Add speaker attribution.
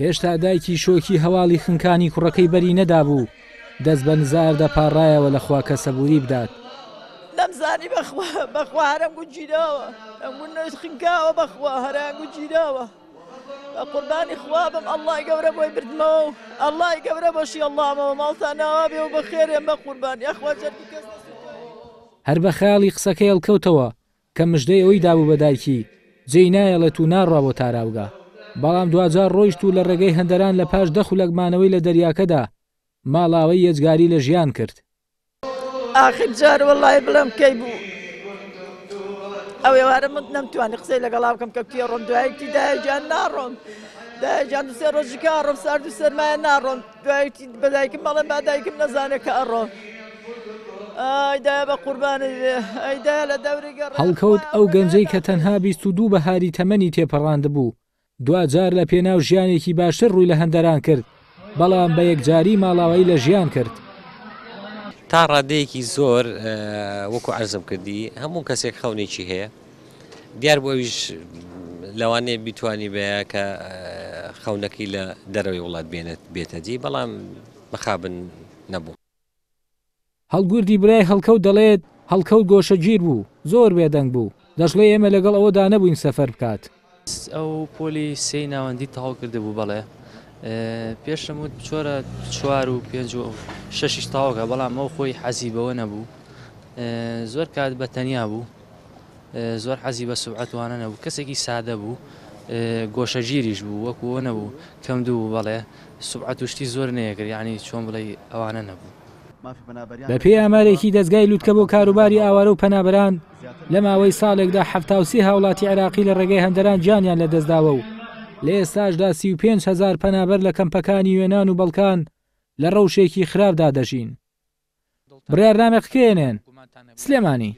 Speaker 1: هێشتا دایکی شۆکی هەواڵی خنکانی کوڕەکەی بەری نەدابوو، دەست بە نزار دەپاڕایەوە لە خوا کە سەبووری بدات.
Speaker 2: نەمزانی بەخوا بەخوا هەرم گوت گیراوە ئەم گوت نەوت خنکاوە بەخوا هەران گوت گیراوە بە قوربانی خوا بم ئەڵڵای گەورە بۆی بردمەوە و ئەڵڵای گەورە بۆشی ئەڵڵامەوە ماڵتان ئاوا بێ و بەخێرێن بە قوربان یاخوا جەرگی کەس نەسووتێ.
Speaker 1: هەر بە خەیاڵی قسەکەی هەڵکەوتەوە کە مژدەی ئەوەی دابوو بە دایکی، جێی نایەڵێت و ناڕوا بۆ تاراوگە. بەڵام دواجار ڕۆیشت و لە ڕێگەی هەندەران لە پاش دە خولەک مانەوەی لە دەریاکەدا، ماڵاوەی یەجگاری لە ژیان کرد.
Speaker 2: ئاخر جار وەڵای بڵێم کەی بوو ئەو ئێوارە من نەمتوانی قسەی لەگەڵا بکەم کە کوێ ڕۆم دوای وتی دایە گیان ناڕۆم دایە گیان دوو سێ ڕۆژی کە ئەڕۆم سارد و سەرمایە ناڕۆم دوای وتی بە دایکم مەڵێم با دایکم نەزانێ کە ئەڕۆم ئای دایە بە قوربانت بێ ئەی دایە لە دەوری گەڕێ
Speaker 1: هەڵکەوت ئەو گەنجەی کە تەنها 22 بەهاری تەمەنی تێپەڕاندبوو، دواجار لە پێناو ژیانێکی باشتر ڕووی لە هەندەران کرد، بەڵام بە یەکجاری ماڵاوایی لە ژیان کرد.
Speaker 3: تا ڕادەیەکی زۆر وەکو عەرزم کردی هەموو کەسێک خەونێکی هەیە دیار بوو ئەویش لەوانەیە بیتوانی بەیە کە خەونەکەی لە دەرەوەی وڵات بێنێت بێتە دی بەڵام مەخابن نەبوو.
Speaker 1: هەڵگوردی برای هەڵکەوت دەڵێت، هەڵکەوت گۆشەگیر بوو، زۆر بێدەنگ بوو، دەشڵێ ئێمە لەگەڵ ئەوەدا نەبووین سەفەر بکات.
Speaker 4: ئەو پۆلی سێی ناوەندی تەواو کردبوو بەڵێ پێشم وت بچۆرە چوار و پێنج و شەشیش تەواوکە بەڵام ئەو خۆی حەزی بەوە نەبوو زۆر کات بە تەنیا بوو زۆر حەزی بە سوبعەت وانە نەبوو کەسێکی سادە بوو گۆشەگیریش بوو وەکو ئەوە نەبوو کەم دوو بوو بەڵێ سوبعەت و شتی زۆر نەیەکرد یعنی چۆن بڵێی ئەوانە نەبوو.
Speaker 1: بەپێی ئامارێکی دەزگای لوتکە بۆ کاروباری ئاوارە و پەنابەران، لە ماوەی ساڵێکدا 73 هاوڵاتی عێراقی لە ڕێگەی هەندەران گیانیان لەدەستداوە و لە ئێستاشدا 35 هەزار پەنابەر لە کەمپەکانی یۆنان و بەڵکان لە ڕەوشێکی خراپدا دەژین. بڕیارنامەی قکێنێن، سلێمانی.